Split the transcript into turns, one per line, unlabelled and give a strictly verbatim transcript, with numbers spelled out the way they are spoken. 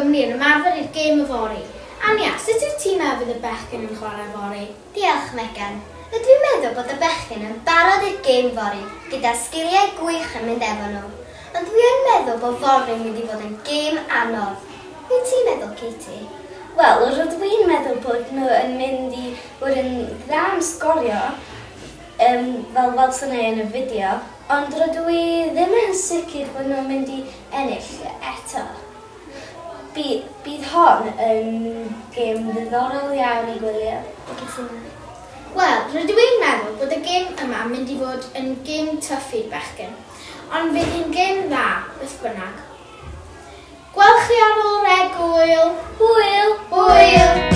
gwmni yn ymarfer i'r gêm yfory. Anya, sut wyt ti'n meddwl fydd y bechgyn yn chwarae yfory?
Diolch, Megan. Rydw i'n meddwl bod y bechgyn yn barod i'r gêm fory, gyda sgiliau gwych yn mynd efo nhw. Ond dwi yn meddwl bod fory'n mynd i fod yn gêm anodd. Be ti'n meddwl, Katie?
Wel, rydw i'n meddwl bod nhw yn mynd i fod yn dda am sgorio, um, fel welson ni yn y fideo, ond rydw i ddim yn sicr bod nhw'n mynd i ennill eto. By, bydd hon yn gêm ddiddorol iawn i gwylio.
Cytuno.
Wel, rydw i'n meddwl bod y gêm yma yn mynd i fod yn gêm tough i'r bechgyn. Ond fydd hi'n gêm dda, beth bynnag. Gwel chi ar ôl yr egwyl.
Hwyl!
Hwyl!